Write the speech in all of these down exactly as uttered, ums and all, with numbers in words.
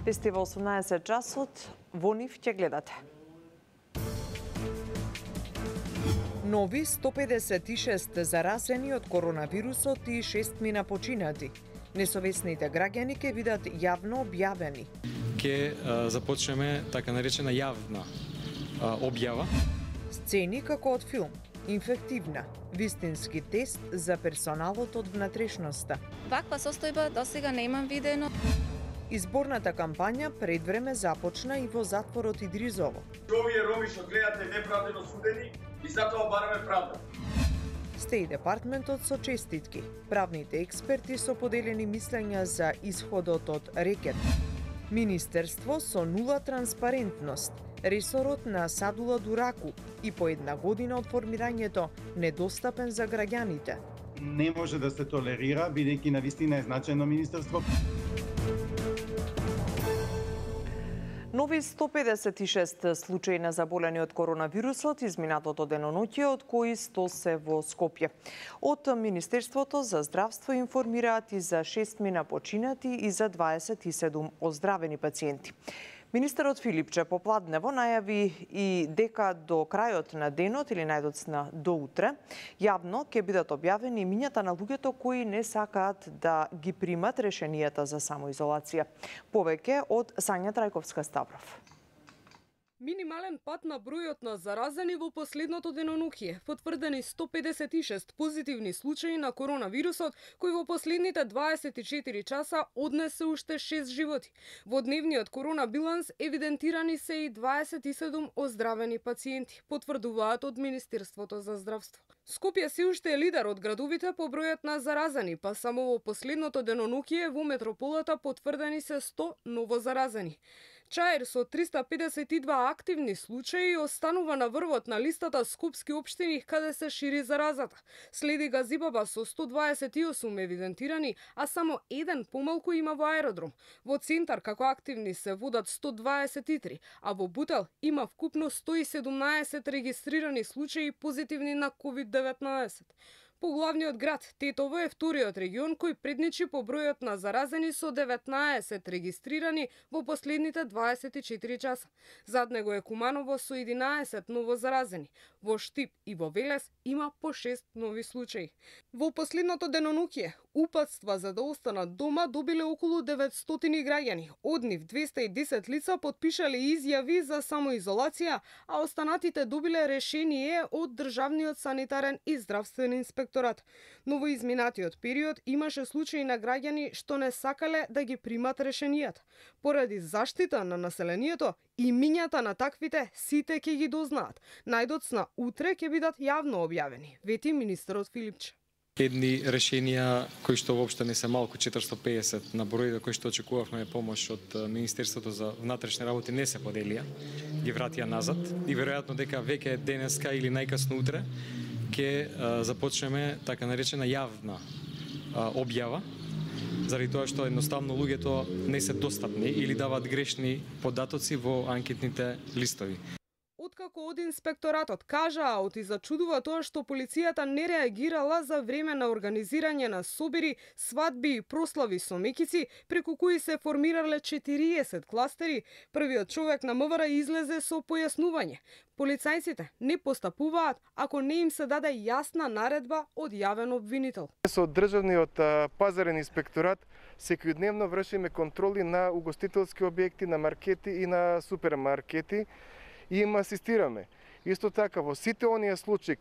Вести во осумнаесет часот, во нив ќе гледате. Нови сто педесет и шест заразени од коронавирусот и шест мина починати. Несовесните граѓани ќе бидат јавно објавени. Ќе започнеме така наречена јавна а, објава. Сцени како од филм, инфективна, вистински тест за персоналот од внатрешноста. Ваква состојба досега не имам видено. Изборната кампања пред време започна и во затворот Идризово. Овие роми што гледате неправдено судени и затоа бараме правда. Стеј департментот со честитки. Правните експерти со поделени мислења за исходот од рекет. Министерство со нула транспарентност. Ресорот на Садула Дураку и по една година од формирањето недостапен за граѓаните. Не може да се толерира, бидејќи навистина е значајно министерство. Нови сто педесет и шест случаи на заболени од коронавирусот изминатото деноноќе, од кои сто се во Скопје. Од Министерството за здравство информираат и за шест мина починати и за дваесет и седум оздравени пациенти. Министерот Филипче попладнево најави и дека до крајот на денот или најдоцна до утре јавно ќе бидат објавени имињата на луѓето кои не сакаат да ги примат решенијата за самоизолација. Повеќе од Сања Трајковска-Ставров. Минимален пат на бројот на заразени во последното деноноќе. Потврдени сто педесет и шест позитивни случаи на коронавирусот, кои во последните дваесет и четири часа однесе уште шест животи. Во дневниот коронабиланс евидентирани се и дваесет и седум оздравени пациенти, потврдуваат од Министерството за здравство. Скопје се уште е лидер од градовите по бројот на заразени, па само во последното деноноќе во метрополата потврдени се сто ново заразени. Чаир со триста педесет и два активни случаи останува на врвот на листата скопски општини каде се шири заразата. Следи Газибаба со сто дваесет и осум евидентирани, а само еден помалку има во аеродром. Во Центар како активни се водат сто дваесет и три, а во Бутел има вкупно сто и седумнаесет регистрирани случаи позитивни на ковид деветнаесет. По главниот град, Тетово е вториот регион кој предничи по бројот на заразени со деветнаесет регистрирани во последните дваесет и четири часа. Зад него е Куманово со единаесет ново заразени. Во Штип и во Велес има по шест нови случаи. Во последното деноноќе, упатства за да останат дома добиле околу деветстотини граѓани. Од нив двеста и десет лица потпишале изјави за самоизолација, а останатите добиле решение од Државниот санитарен и здравствен инспекторат. Но во изминатиот период имаше случаи на граѓани што не сакале да ги примат решенијата. Поради заштита на населението, имињата на таквите сите ќе ги дознаат. Најдоцна утре ќе бидат јавно објавени, вети министерот Филипче. Едни решенија кои што воопшто не се малку, четиристо педесет на број кои што очекувавме помош од Министерството за внатрешни работи не се поделија, ги вратија назад и веројатно дека веќе денеска или најкасно утре ќе започнеме така наречена јавна објава, заради тоа што едноставно луѓето не се достапни или даваат грешни податоци во анкетните листови. Откако од инспекторатот кажаат и зачудува тоа што полицијата не реагирала за време на организирање на собири, свадби и прослави со мекици, преку кои се формирале четириесет кластери, првиот човек на МВР излезе со појаснување. Полицајците не постапуваат ако не им се даде јасна наредба од јавен обвинител. Со државниот пазарен инспекторат секојдневно вршиме контроли на угостителски објекти, на маркети и на супермаркети и им асистираме. Исто така во сите оние случаи,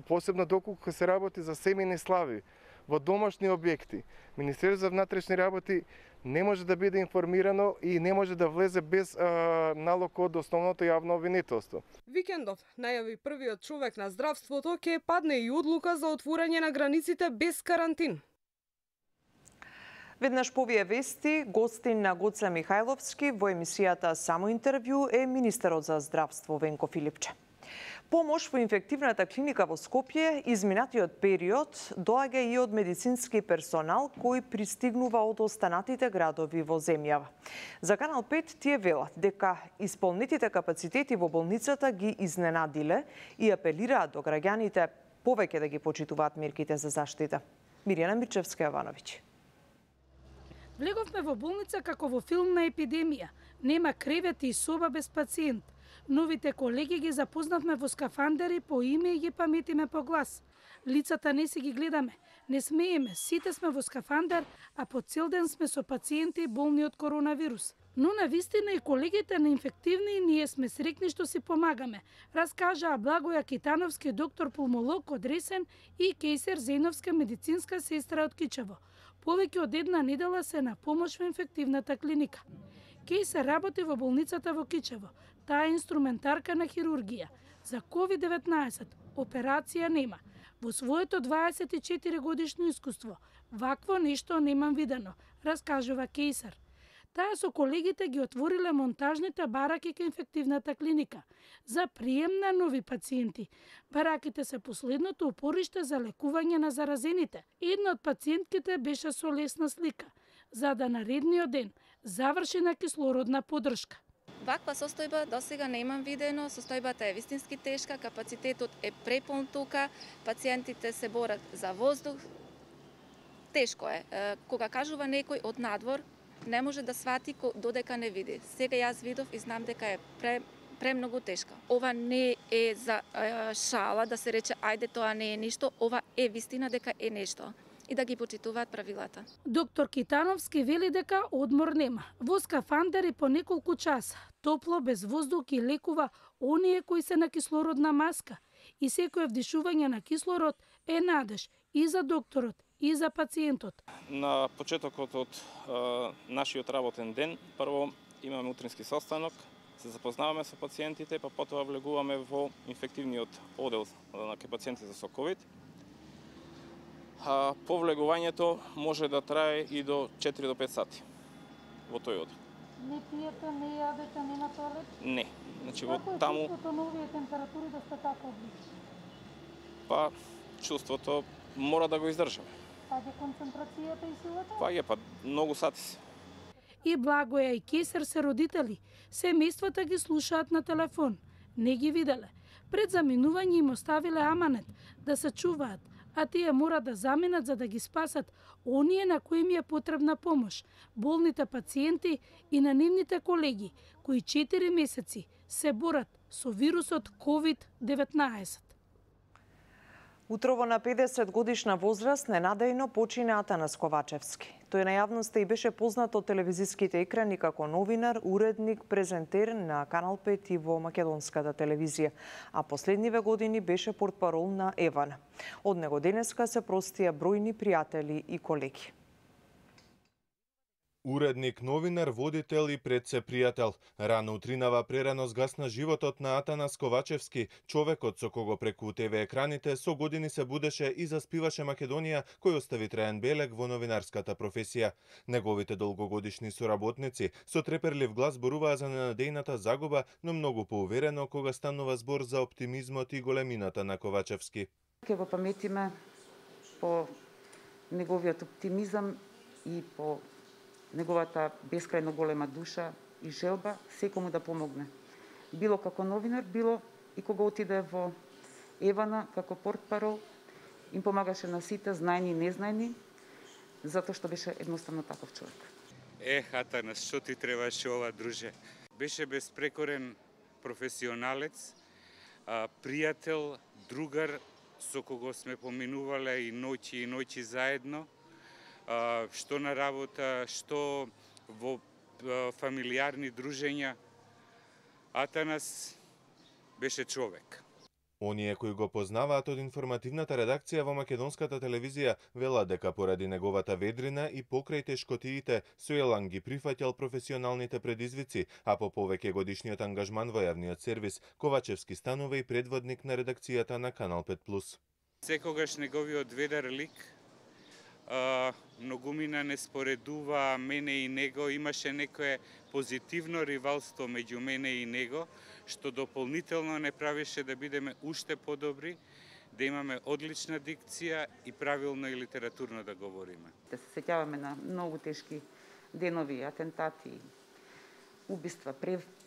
посебно доколку се работи за семејни слави, во домашни објекти, Министерството за внатрешни работи не може да биде информирано и не може да влезе без а, налог од основното јавно обвинителство. Викендов најави првиот човек на здравството ќе падне и одлука за отворање на границите без карантин. Веднаш по овие вести, гостин на Гоце Михајловски во емисијата Само интервју е министерот за здравство Венко Филипче. Помош во инфективната клиника во Скопје изминатиот период доаѓа и од медицински персонал кој пристигнува од останатите градови во земјава. За Канал пет тие велат дека исполнетите капацитети во болницата ги изненадиле и апелираат до граѓаните повеќе да ги почитуваат мерките за заштита. Мирјана Мирчевска-Јовановиќ. Влеговме во болница како во филм на епидемија. Нема кревети и соба без пациент. Новите колеги ги запознавме во скафандери по име и ги паметиме по глас. Лицата не си ги гледаме, не смееме, сите сме во скафандар, а по цел ден сме со пациенти болни од коронавирус. Но на вистина и колегите на инфективни и ние сме срекни што си помагаме, раскажаа Благоја Китановски, доктор пулмолог од Ресен и Кејсер Зејновска, медицинска сестра од Кичево. Повеќе од една недела се на помош во инфективната клиника. Кејсер работи во болницата во Кичево. Таа е инструментарка на хирургија. За ковид деветнаесет операција нема. Во своето дваесет и четири годишно искуство, вакво нешто немам видено, раскажува Кејсер. Таа со колегите ги отвориле монтажните бараки кај инфективната клиника за прием на нови пациенти. Бараките се последното упориште за лекување на заразените. Една од пациентките беше со лесна слика, за да наредниот ден заврши на кислородна поддршка. Ваква состојба досега немам видено, состојбата е вистински тешка, капацитетот е препун тука, пациентите се борат за воздух. Тешко е. Кога кажува некој од надвор, не може да свати додека не види. Сега јас видов и знам дека е пре, премногу тешка. Ова не е за е, шала да се рече ајде тоа не е ништо, ова е вистина дека е нешто и да ги почитуваат правилата. Доктор Китановски вели дека одмор нема. Во скафандер и по неколку часа, топло, без воздух и лекува оние кои се на кислородна маска. И секој вдишување на кислород е надеж и за докторот, и за пациентот. На почетокот од е, нашиот работен ден, прво имаме утрински состанок, се запознаваме со пациентите, па потоа влегуваме во инфективниот одел на пациенти за ковид. А, повлегувањето може да трае и до четири до пет сати во тој одел. Не пиете, не јадете, не на тоалет? Не. Значи во Како е таму чувството на овие температури да сте така облични? Па чувството мора да го издржаме. Паѓа концентрацијата и силата? Паѓа, па многу сати се. И Благоја и Кејсер се родители. Семејствата ги слушаат на телефон. Не ги виделе. Пред заминување им оставиле аманет да се чуваат, а тие мора да заминат за да ги спасат оние на кои им е потребна помош, болните пациенти и на нивните колеги, кои четири месеци се борат со вирусот ковид деветнаесет. Утрово на педесет годишна возраст ненадејно почина Атанас Ковачевски. Тој на јавноста и беше познат од телевизиските екрани како новинар, уредник, презентер на Канал пет и во македонската телевизија, а последниве години беше портпарол на Евана. Од него денеска се простија бројни пријатели и колеги. Уредник, новинар, водител и пред се пријател. Рано утринава прерано згасна животот на Атанас Ковачевски, човекот со кого преку те ве екраните со години се будеше и заспиваше Македонија, кој остави траен белег во новинарската професија. Неговите долгогодишни соработници со треперлив глас зборуваа за ненадејната загуба, но многу поуверено кога станува збор за оптимизмот и големината на Ковачевски. Ке го паметиме по неговиот оптимизам и по неговата бескрајно голема душа и желба секому да помогне. Било како новинар, било и кога отиде во Евана како портпарол, им помагаше на сите, знајни и незнајни, затоа што беше едноставно таков човек. Ех, Атанас, што ти требаше ова, друже? Беше безпрекорен професионалец, пријател, другар, со кого сме поминувале и ноќи и ноќи заедно, што на работа, што во фамилиарни дружења. Атанас беше човек. Оние кои го познаваат од информативната редакција во македонската телевизија велат дека поради неговата ведрина и покрај тешкотиите со елан ги прифаќал професионалните предизвици, а по повеќе годишниот ангажман во јавниот сервис, Ковачевски станува и предводник на редакцијата на Канал пет плюс. Секогаш неговиот ведар лик, Uh, многумина не споредува мене и него, имаше некое позитивно ривалство меѓу мене и него, што дополнително не правеше да бидеме уште подобри, да имаме одлична дикција и правилно и литературно да говориме. Да се сеќаваме на многу тешки денови, атентати, убиства,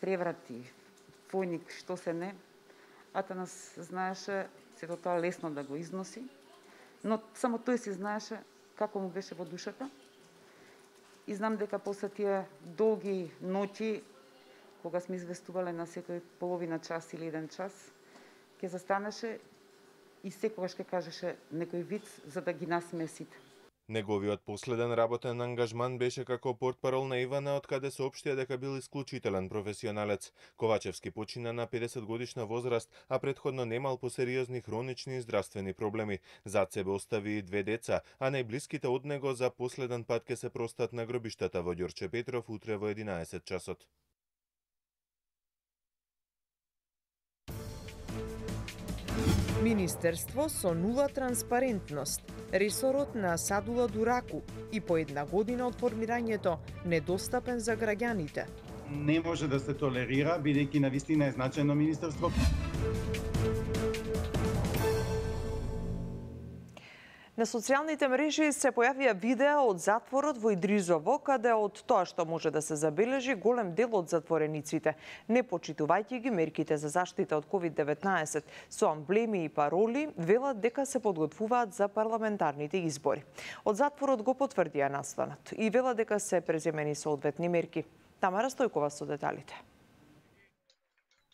преврати, војник, што се не. Атанас знаеше сето тоа лесно да го износи, но само тој си знаеше како му беше во душата И знам дека после тие долги ноќи, кога сме известувале на секој половина час или еден час, ќе застанеше и секогаш ќе кажеше некој виц за да ги насмее сите. Неговиот последен работен ангажман беше како портпарол на Ивана, од каде соопштија дека бил исклучителен професионалец. Ковачевски почина на педесет годишна возраст, а претходно немал посериозни хронични и здравствени проблеми. Зад себе остави и две деца, а најблиските од него за последен пат ќе се простат на гробиштата во Ѓорче Петров утре во единаесет часот. Министерство со нула транспарентност, ресорот на Садула Дураку и по една година од формирањето недостапен за граѓаните. Не може да се толерира, бидејќи навистина е значајно министерство. На социјалните мрежи се појавија видеа од затворот во Идризово, каде од тоа што може да се забележи голем дел од затворениците, не почитувајќи ги мерките за заштита од ковид деветнаесет, со амблеми и пароли, велат дека се подготвуваат за парламентарните избори. Од затворот го потврдија настанот и велат дека се преземени соодветни мерки. Тамара Стојкова со деталите.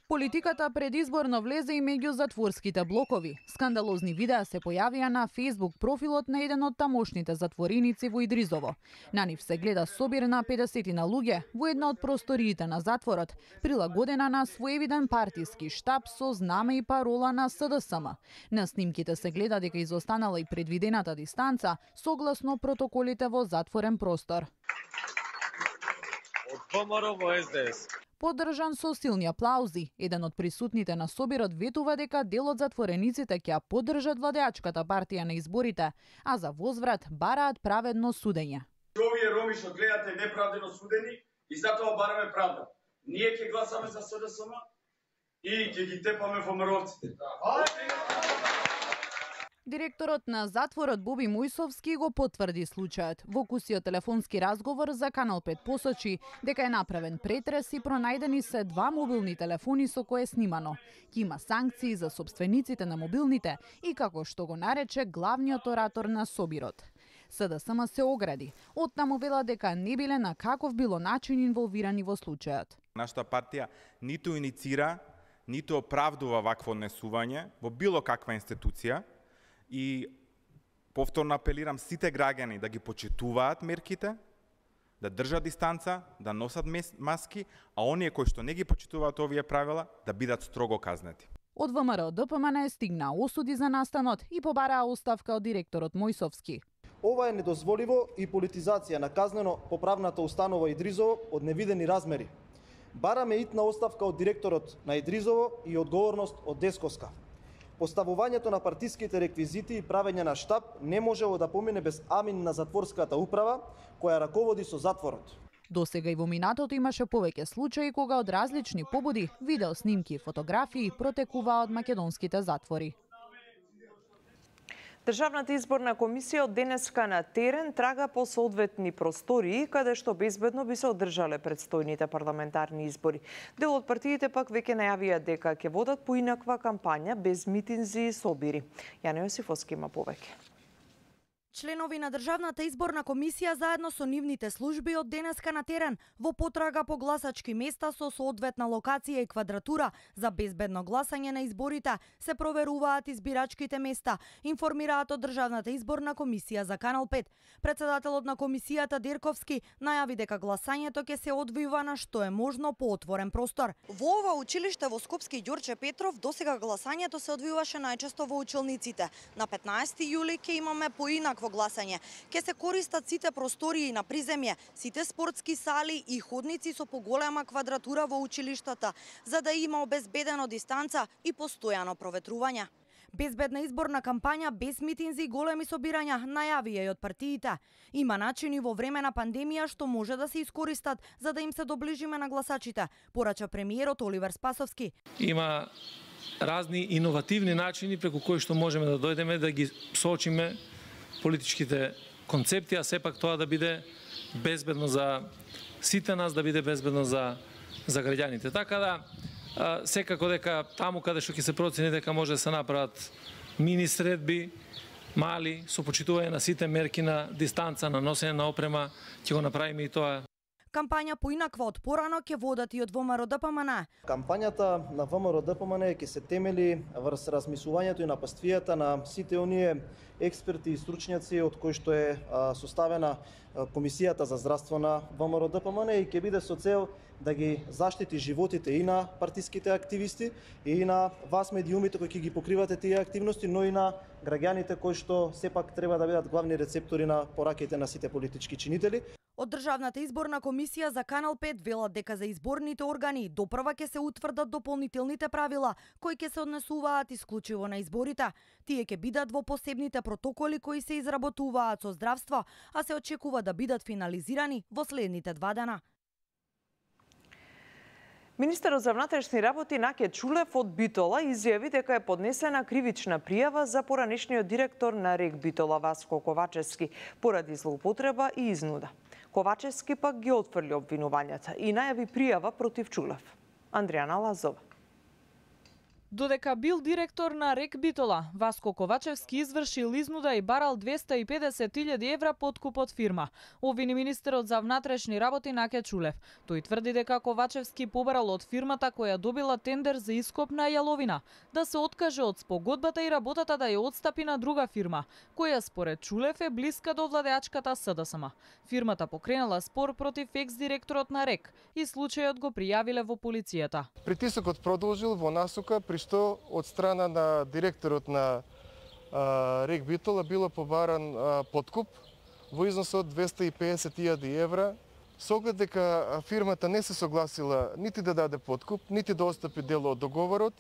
Политиката предизборно влезе и меѓу затворските блокови. Скандалозни видеа се појавија на Facebook профилот на еден од тамошните затвореници во Идризово. На нив се гледа собир на педесетина луѓе во една од просториите на затворот, прилагодена на своевиден партиски штаб со знаме и парола на С Д С М. На снимките се гледа дека изостанала и предвидената дистанца согласно протоколите во затворен простор. Од Вэ М Р во С Д С. Поддржан со силни аплаузи, еден од присутните на собирот ветува дека дел од затворениците ќе ја поддржат владеачката партија на изборите, а за возврат бараат праведно судење. Овие роми што гледате неправдено судени и затоа бараме правда. Ние ќе гласаме за С Д С М и ќе ги тепаме Вэ М Р-овците. Директорот на затворот Боби Мојсовски го потврди случајот. Во кусиот телефонски разговор за Канал пет посочи дека е направен претрес и пронајдени се два мобилни телефони со кои е снимано. Ки има санкции за собствениците на мобилните и како што го нарече главниот оратор на собирот. С Д С М се огради. Оттаму вела дека не биле на каков било начин инволвирани во случајот. Нашата партија ниту иницира, ниту оправдува вакво однесување во било каква институција. И повторно апелирам сите граѓани да ги почитуваат мерките, да држат дистанца, да носат маски, а оние кои што не ги почитуваат овие правила да бидат строго казнети. Од Вэ М Р Д П М Н стигна осуди за настанот и побараа оставка од директорот Мојсовски. Ова е недозволиво и политизација на казнено поправната установа Идризово од невидени размери. Бараме итна оставка од директорот на Идризово и одговорност од Десковска. Поставувањето на партиските реквизити и правење на штаб не можело да помине без амин на затворската управа, која раководи со затворот. Досега и во минатото имаше повеќе случаи кога од различни побуди, видео снимки и фотографии протекуваа од македонските затвори. Државната изборна комисија од денеска на терен трага по соодветни простории каде што безбедно би се одржале предстојните парламентарни избори. Дел од партиите пак веќе најавија дека ќе водат поинаква кампања без митинзи и собири. Јане Јосифовски има повеќе. Членови на Државната изборна комисија заедно со нивните служби од денеска на терен во потрага по гласачки места со соодветна локација и квадратура за безбедно гласање на изборите се проверуваат избирачките места, информираат од Државната изборна комисија за Канал пет. Председателот на комисијата Дерковски најави дека гласањето ќе се одвива на што е можно по отворен простор. Во ова училиште во Скопски Ѓорче Петров досега гласањето се одвиваше најчесто во училниците. На петнаесети јули ќе имаме поинакво гласање. Ке се користат сите простории на приземје, сите спортски сали и ходници со поголема квадратура во училиштата, за да има обезбедено дистанца и постојано проветрување. Безбедна изборна кампања без митинзи и големи собирања најавија и од партиите. Има начини во време на пандемија што може да се искористат за да им се доближиме на гласачите, порача премиерот Оливер Спасовски. Има разни иновативни начини преку кои што можеме да дојдеме да ги соочиме политичките концепти, а сепак тоа да биде безбедно за сите нас, да биде безбедно за за граѓаните. Така да секако дека таму каде што ќе се процени дека може да се направат мини средби, мали, со почитување на сите мерки на дистанца, на носење на опрема, ќе го направиме и тоа. Кампања поинаква од порано ќе водат и од ВМРО-ДПМН. Кампањата на ВМРО-ДПМН ќе се темели врз размислувањето и напаствијата на сите оние експерти и стручњаци од кои што е а, составена а, Комисијата за здравство на ВМРО-ДПМН и ќе биде со цел да ги заштити животите и на партиските активисти и на вас медиумите кои ќе ги покривате тие активности, но и на граѓаните кои што сепак треба да бидат главни рецептори на пораките на сите политички чинители. Од Државната изборна комисија за Канал пет велат дека за изборните органи допрва ќе се утврдат дополнителните правила кои ќе се однесуваат исклучиво на изборите. Тие ќе бидат во посебните протоколи кои се изработуваат со здравство, а се очекува да бидат финализирани во следните два дена. Министерот за внатрешни работи Наке Чулев од Битола изјави дека е поднесена кривична пријава за поранешниот директор на РЕК Битола Васко Ковачевски поради злоупотреба и изнуда. Ковачевски пак ги отфрли обвинувањата и најави пријава против Чулев. Андријана Лазова. Додека бил директор на РЕК Битола, Васко Ковачевски извршил изнуда и барал двесте и педесет илјади евра подкуп од фирма, обвини министерот за внатрешни работи Наке Чулев. Тој тврди дека Ковачевски побарал од фирмата која добила тендер за ископ на јаловина, да се откаже од спогодбата и работата да ја отстапи на друга фирма, која според Чулев е блиска до владеачката СДСМ. Фирмата покренала спор против екс-директорот на РЕК и случајот го пријавиле во полицијата. Притисокот продолжил во насока при што од страна на директорот на а, РЕК Битола било побаран а, подкуп во износ од двесте и педесет илјади евра, со оглед дека фирмата не се согласила нити да даде подкуп, нити да отстапи дел од договорот,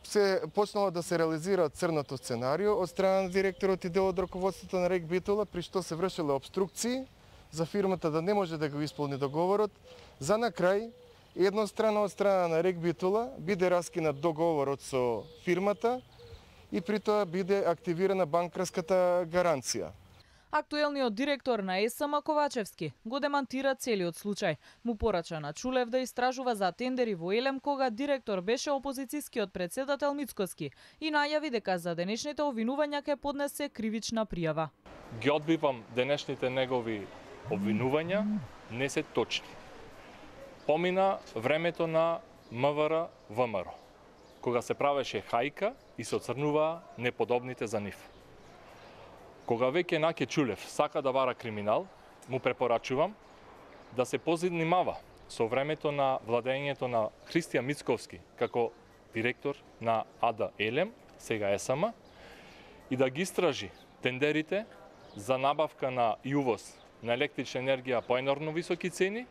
се почнало да се реализира црното сценарио од страна на директорот и дел од раководството на РЕК Битола, при што се вршеле обструкции за фирмата да не може да го исполни договорот. За на крај, еднострано од страна на РЕК Битола биде раскинат договорот со фирмата и при тоа биде активирана банкарската гаранција. Актуелниот директор на ЕСМ Ковачевски го демантира целиот случај. Му порача на Чулев да истражува за тендери во Елем кога директор беше опозицијскиот председател Мицкоски и најави дека за денешните обвинувања ќе поднесе кривична пријава. Ги одбивам денешните негови обвинувања, не се точни. Помина времето на МВР ВМРО, кога се правеше хајка и се оцрнуваа неподобните за нив. Кога веќе Наке Чулев сака да вара криминал, му препорачувам да се позанимава со времето на владењето на Христијан Мицковски како директор на АД Елем, сега ЕСМ, и да ги истражи тендерите за набавка на и увоз на електрична енергија по енормно високи цени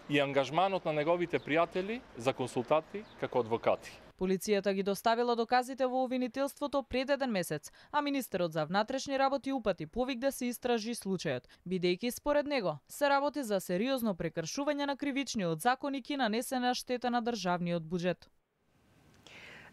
и ангажманот на неговите пријатели за консултати како адвокати. Полицијата ги доставила доказите во обвинителството пред еден месец, а министерот за внатрешни работи упати повик да се истражи случајот, бидејќи според него се работи за сериозно прекршување на кривичниот законник и нанесена штета на државниот буџет.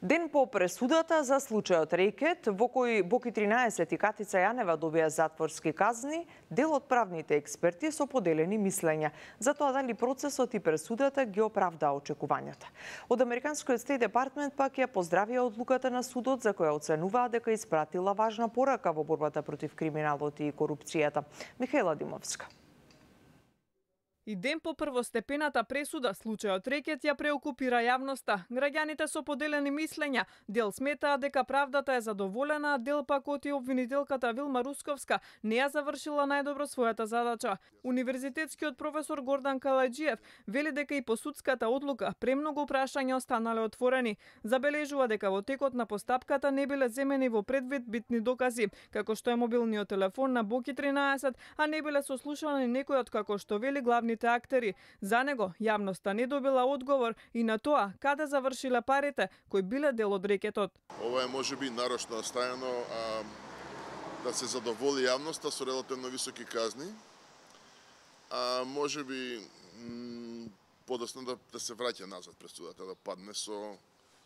Ден по пресудата за случајот Рекет, во кој Боки тринаесет и Катица Јанева добија затворски казни, дел од правните експерти со поделени мислења за тоа дали процесот и пресудата ги оправдаа очекувањата. Од Американскиот Стейт Департмент пак ја поздравија одлуката на судот за која оценуваа дека испратила важна порака во борбата против криминалот и корупцијата. Михаела Димовска. И ден по првостепената пресуда, случајот Рекет ја преокупира јавноста. Граѓаните со поделени мислења, дел сметаа дека правдата е задоволена, а дел пак оти обвинителката Вилма Русковска не ја завршила најдобро својата задача. Универзитетскиот професор Гордан Калајџиев вели дека и по судската одлука премногу прашања останале отворени. Забележува дека во текот на постапката не биле земени во предвид битни докази, како што е мобилниот телефон на Боки тринаесет, а не биле сослушани некои од како што вели главни актери. За него јавноста не добила одговор и на тоа каде завршиле парите кои биле дел од рекетот. Ова е можеби нарочно оставено а, да се задоволи јавноста со релативно високи казни, а можеби подоцна да, да се враќа назад пресудата, да падне со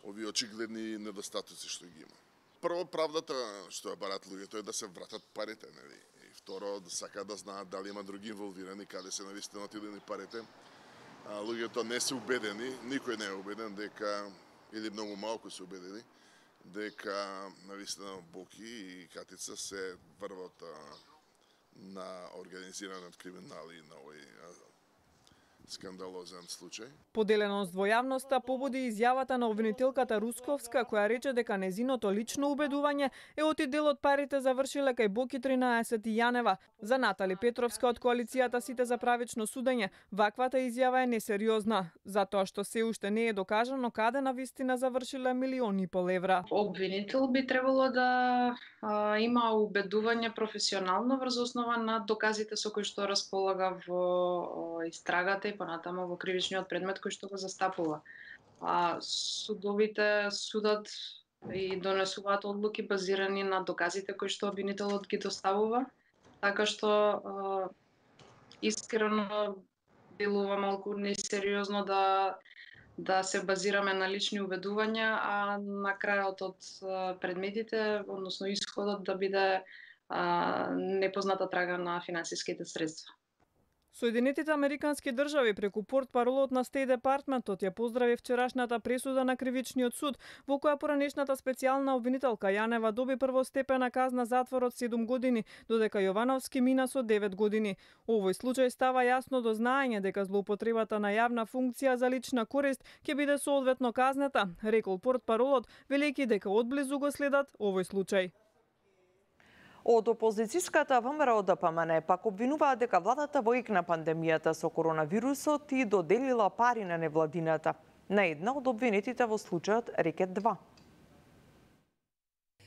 овие очигледни недостатоци што ги има. Прво, правдата што ја барат луѓето е да се вратат парите, нели? Второ, да сакаат да знаат дали има други инволвирани, каде се навистина отидени парите. А, луѓето не се убедени, никој не е убеден дека, или многу малку се убедени, дека навистина Боки и Катица се врвот на организираниот криминал и на овој скандалозен случај. Поделеност во јавноста побуди изјавата на обвинителката Русковска, која рече дека незиното лично убедување е оти дел од парите завршиле кај Боки тринаесет и Јанева. За Натали Петровска од коалицијата Сите за правично судење, ваквата изјава е несериозна, затоа што се уште не е докажано каде навистина завршиле милиони и пол евра. Обвинител би требало да а, има убедување професионално врз основа на доказите со кои што располага во истрагата и понатамо во кривичниот предмет кој што го застапува. А судовите судат и донесуваат одлуки базирани на доказите кои што обвинителот ги доставува, така што а, искрено делува малку несериозно да да се базираме на лични убедувања, а на крајот од предметите, односно исходот да биде а, непозната трага на финансиските средства. Соединетите Американски држави преку портпаролот на Стејт Департментот ја поздрави вчерашната пресуда на кривичниот суд, во која поранешната специјална обвинителка Јанева доби првостепена казна затвор од седум години, додека Јовановски мина со девет години. Овој случај става јасно до знаење дека злоупотребата на јавна функција за лична корист ќе биде соодветно казнета, рекол портпаролот, велејќи дека одблизу го следат овој случај. Од опозицијската ВМРО Д П М Н пак обвинуваат дека владата во ек на пандемијата со коронавирусот и доделила пари на невладината. На една од обвинетите во случајот Рекет два.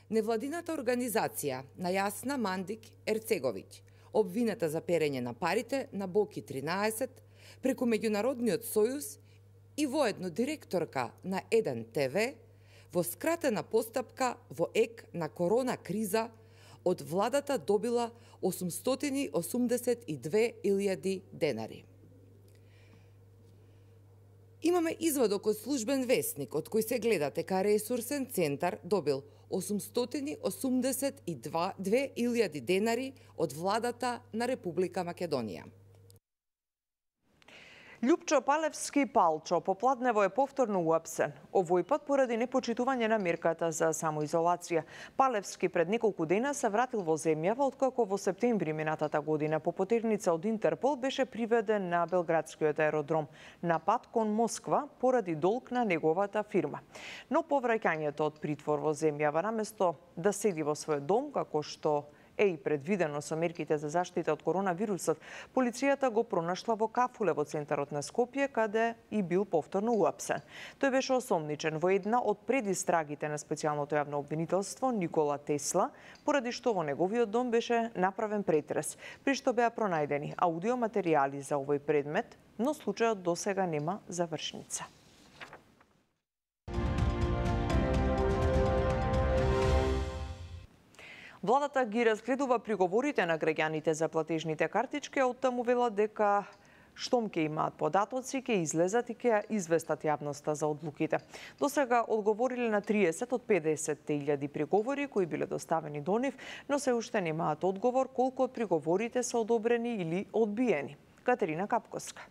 Невладината организација на Јасна Мандик Ерцеговиќ, обвината за перење на парите на Боки тринаесет преку Меѓународниот сојуз и воедно директорка на еден Т В во скратена постапка во ек на корона криза од владата добила осумстотини осумдесет и две илјади денари. Имаме изводок од службен весник од кој се гледа дека ресурсен центар добил осумстотини осумдесет и две илјади денари од владата на Република Македонија. Љупчо Палевски Палчо попладнево е повторно уапсен. Овој пат поради непочитување на мерката за самоизолација. Палевски пред неколку дена се вратил во земјава, откако во септември минатата година по потерница од Интерпол беше приведен на Белградскиот аеродром на пат кон Москва поради долг на неговата фирма. Но по враќањето од притвор во земјава, наместо да седи во својот дом, како што е и предвидено со мерките за заштита од коронавирусот, полицијата го пронашла во кафуле во центарот на Скопје, каде и бил повторно уапсен. Тој беше осомничен во една од предистрагите на специјалното јавно обвинителство Никола Тесла, поради што во неговиот дом беше направен претрес, при што беа пронајдени аудиоматеријали за овој предмет, но случајот досега нема завршница. Владата ги разгледува приговорите на граѓаните за платежните картички, а оттаму вела дека штом ќе имаат податоци, ќе излезат и ќе известат јавноста за одлуките. Досега одговориле на триесет од педесет илјади приговори кои биле доставени до нив, но се уште немаат одговор колку од приговорите се одобрени или одбиени. Катерина Капковска.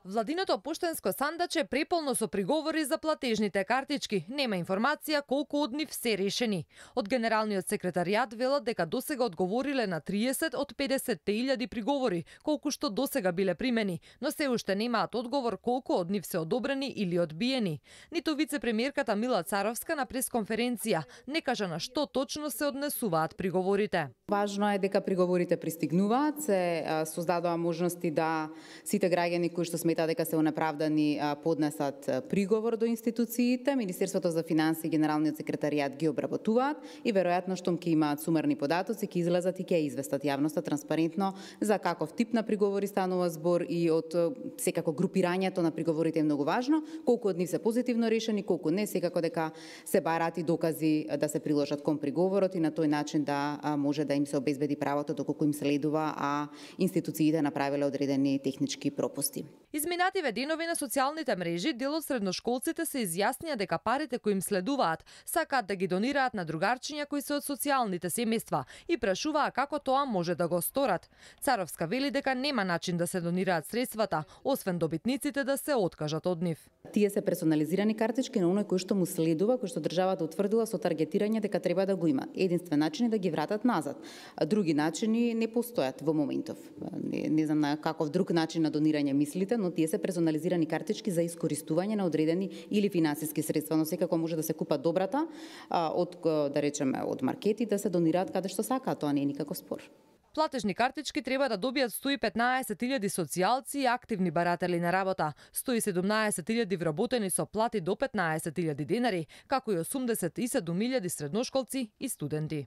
Владиното поштенско сандаче преполно со приговори за платежните картички. Нема информација колку од нив се решени. Од Генералниот секретаријат велат дека досега одговориле на триесет од педесет илјади приговори, колку што досега биле примени, но се уште немаат одговор колку од нив се одобрени или одбиени. Ниту вице-премиерката Мила Царовска на пресконференција не кажа на што точно се однесуваат приговорите. Важно е дека приговорите пристигнуваат, се создадоа можности да сите граѓани кои што смета дека се онеправдани поднесат приговор до институциите. Министерството за финансии и Генералниот секретаријат ги обработуваат и веројатно штом ќе имаат сумарни податоци, ќе излезат и ќе известат јавноста транспарентно за каков тип на приговори станува збор и од секако групирањето на приговорите е многу важно, колку од нив се позитивно решени, колку не, секако дека се барат и докази да се приложат кон приговорот и на тој начин да може да им се обезбеди правото доколку им следува, а институциите направиле одредени технички пропусти. Изминативе денови на социјалните мрежи дел од средношколците се изјаснија дека парите кои им следуваат сакаат да ги донираат на другарчиња кои се од социјалните семејства и прашуваа како тоа може да го сторат. Царовска вели дека нема начин да се донираат средствата, освен добитниците да се откажат од нив. Тие се персонализирани картички на оној кој што му следува, кој што државата утврдила со таргетирање дека треба да го има. Единствен начин е да ги вратат назад. А други начини не постојат во моментов. Не, не знам на каков друг начин на донирање мислите, но тие се персонализирани картички за искористување на одредени или финансиски средства, но секако може да се купа добрата а, од, да речеме, од маркети, да се донираат каде што сакаат, тоа не е никаков спор. Платежни картички треба да добијат сто и петнаесет илјади социјалци и активни баратели на работа, сто и седумнаесет илјади вработени со плати до петнаесет илјади денари, како и осумдесет и седум илјади средношколци и студенти.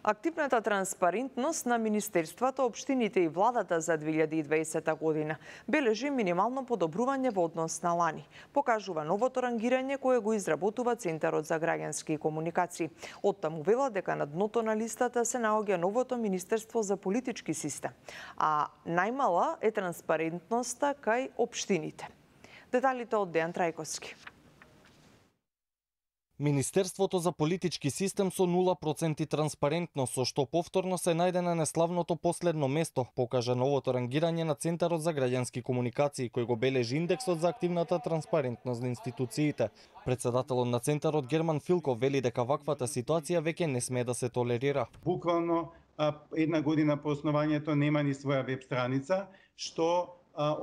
Активната транспарентност на Министерството, општините и владата за две илјади и дваесета година бележи минимално подобрување во однос на лани. Покажува новото рангирање кое го изработува Центарот за граѓански комуникации. Оттаму вела дека на дното на листата се наоѓа новото Министерство за политички систем, а најмала е транспарентноста кај општините. Деталите од Дејан Трајковски. Министерството за политички систем со нула проценти транспарентност, со што повторно се најде на неславното последно место, покажа новото рангирање на Центарот за граѓански комуникации, кој го бележи индексот за активната транспарентност на институциите. Председателот на Центарот Герман Филков вели дека ваквата ситуација веќе не смее да се толерира. Буквално една година по основањето нема ни своја веб страница, што а,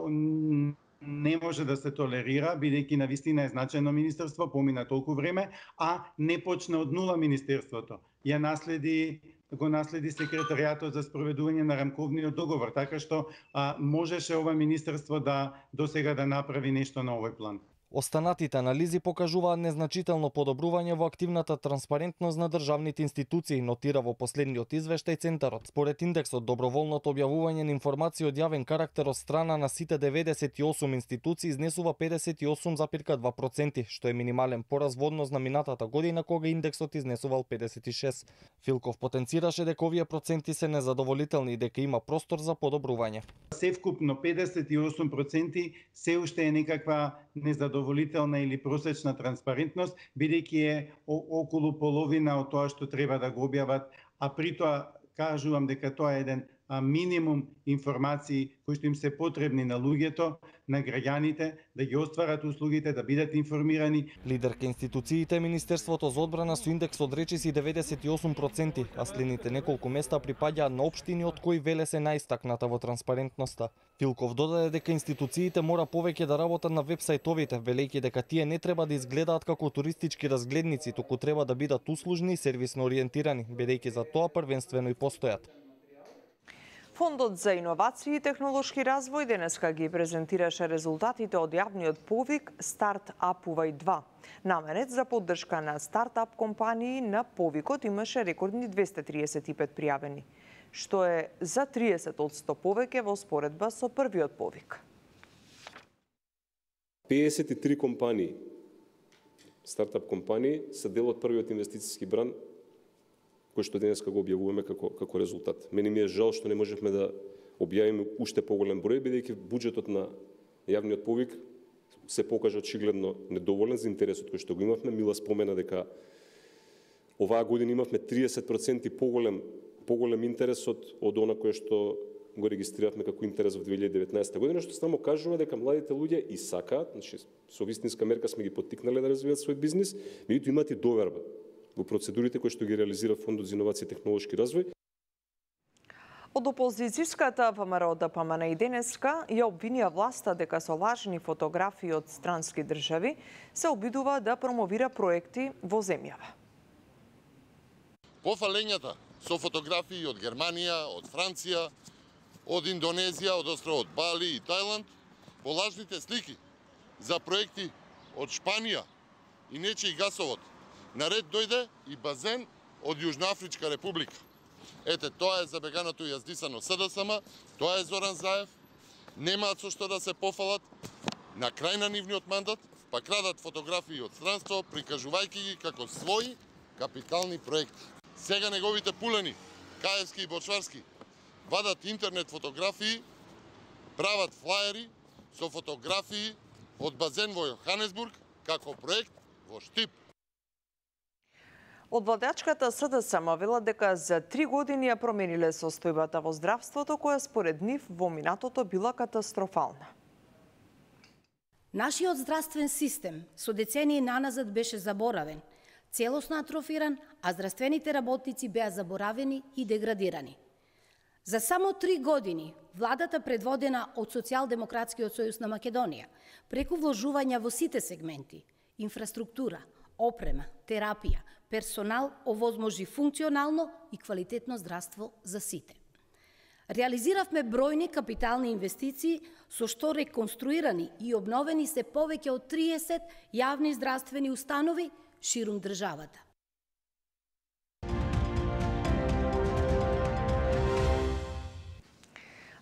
не може да се толерира, бидејќи навистина е значајно министерство, помина толку време, а не почна од нула министерството. Ја наследи, го наследи секретаријатот за спроведување на рамковниот договор, така што а, можеше ова министерство да досега да направи нешто на овој план. Останатите анализи покажуваат незначително подобрување во активната транспарентност на државните институции, нотира во последниот извештај Центарот. Според индексот, доброволното објавување на информации од јавен карактер од страна на сите деветдесет и осум институции изнесува педесет и осум зарез и два проценти, што е минимален пораз во однос на минатата година кога индексот изнесувал педесет и шест. Филков потенцираше дека овие проценти се незадоволителни и дека има простор за подобрување. Севкупно педесет и осум проценти се уште е некаква незадоволителна или просечна транспарентност, бидејќи е околу половина од тоа што треба да го објават, а при тоа кажувам дека тоа е еден минимум информации кои што им се потребни на луѓето, на граѓаните, да ги остварат услугите, да бидат информирани. Лидерка институциите е Министерството за одбрана со индекс од речиси деветдесет и осум проценти, а следните неколку места припаѓаат на општини од кои веле се најистакната во транспарентноста. Филков додаде дека институциите мора повеќе да работат на веб-сајтовите, велејќи дека тие не треба да изгледаат како туристички разгледници, туку треба да бидат услужни и сервисно ориентирани, бидејќи за тоа првенствено и постојат. Фондот за иновации и технолошки развој денеска ги презентираше резултатите од јавниот повик Стартапувај два. Наменет за поддршка на стартап компании на повикот имаше рекордни двесте триесет и пет пријавени, што е за триесет одсто повеќе во споредба со првиот повик. педесет и три компании, стартап компании, се дел од првиот инвестициски бран кој што денеска го објавуваме како, како резултат. Мене ми е жал што не можевме да објавиме уште поголем број, бидејќи буџетот на јавниот повик се покажа очигледно недоволен за интересот кој што го имавме. Мила спомена дека оваа година имавме триесет проценти поголем, поголем интересот од она кое што го регистриравме како интерес во две илјади и деветнаесета година, што само кажува дека младите луѓе и сакаат, значи со вистинска мерка сме ги поттикнале да развијат свој бизнис, меѓутоа имаат и доверба во процедурите кои што ги реализира Фондот за иновации и технолошки развој. Од опозицијската ВМРО Д П М Н и денеска ја обвинија власта дека со лажни фотографии од странски држави се обидува да промовира проекти во земјава. Пофалењата со фотографии од Германија, од Франција, од Индонезија, од островот Бали и Тајланд, по лажните слики за проекти од Шпанија и нечиј гасовод, наред дојде и базен од Јужноафричка република. Ете, тоа е забеганото и јаздисано С Д С М, тоа е Зоран Заев, немаат со што да се пофалат, на крај на нивниот мандат, па крадат фотографии од странство, прикажувајќи ги како своји капитални проекти. Сега неговите пулени, Каевски и Бочварски, вадат интернет фотографии, прават флаери со фотографии од базен во Јоханесбург како проект во Штип. Од владачката СДСМ велат дека за три години ја промениле состојбата во здравството, која според нив во минатото била катастрофална. Нашиот здравствен систем со децении наназад беше заборавен, целосно атрофиран, а здравствените работници беа заборавени и деградирани. За само три години, владата предводена од Социјалдемократскиот сојуз на Македонија, преку вложувања во сите сегменти, инфраструктура, опрема, терапија, персонал, овозможи функционално и квалитетно здравство за сите. Реализиравме бројни капитални инвестиции, со што реконструирани и обновени се повеќе од триесет јавни здравствени установи ширум државата.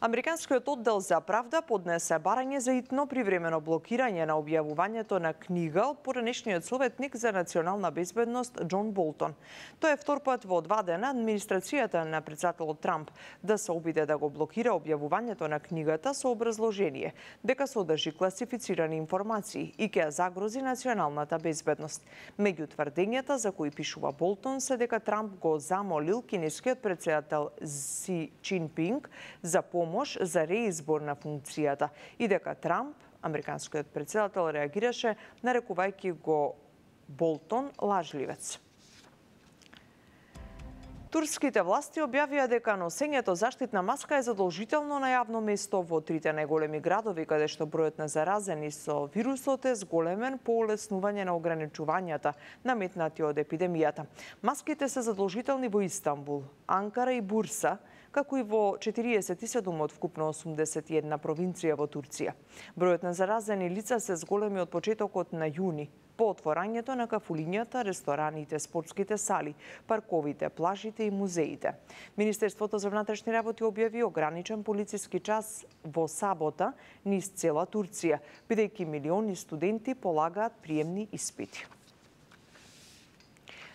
Американскиот оддел за правда поднесе барање за итно привремено блокирање на објавувањето на книга од поранешниот советник за национална безбедност Џон Болтон. Тоа е втор пат во два дена администрацијата на претседателот Трамп да се обиде да го блокира објавувањето на книгата со образложение дека содржи класифицирани информации и ќе загрози националната безбедност. Меѓу тврдењата за кои пишува Болтон се дека Трамп го замолил кинескиот претседател Си Чинпинг за помош за реизбор на функцијата и дека Трамп, американскиот претседател, реагираше нарекувајќи го Болтон лажливец. Турските власти објавија дека носењето заштитна маска е задолжително на јавно место во трите најголеми градови, каде што бројот на заразени со вирусот е зголемен по олеснување на ограничувањата наметнати од епидемијата. Маските се задолжителни во Истанбул, Анкара и Бурса, како и во четириесет и седум од вкупно осумдесет и една провинција во Турција. Бројот на заразени лица се зголеми од почетокот на јуни, по отворањето на кафулињата, рестораните, спортските сали, парковите, плажите и музеите. Министерството за внатрешни работи објави ограничен полициски час во сабота низ цела Турција, бидејќи милиони студенти полагаат приемни испити.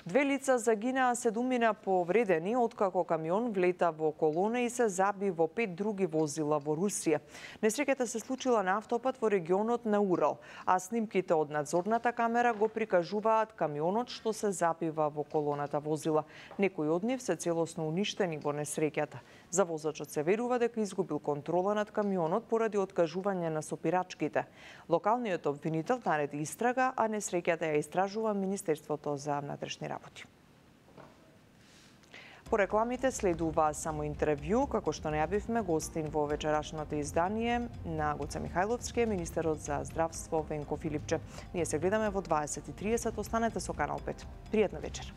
Две лица загинаа, седумина повредени откако камион влета во колона и се заби во пет други возила во Русија. Несреќата се случила на автопат во регионот на Урал, а снимките од надзорната камера го прикажуваат камионот што се забива во колоната возила. Некои од нив се целосно уништени во несреќата. За возачот се верува дека изгубил контрола над камионот поради откажување на сопирачките. Локалниот обвинител нареди истрага, а несреќата ја истражува Министерството за внатрешни работи. По рекламите следува само интервју, како што најавивме гостин во вечерашното издание на Гоце Михајловски, министерот за здравство Венко Филипче. Ние се гледаме во дваесет и триесет, останете со Канал пет. Пријатна вечер.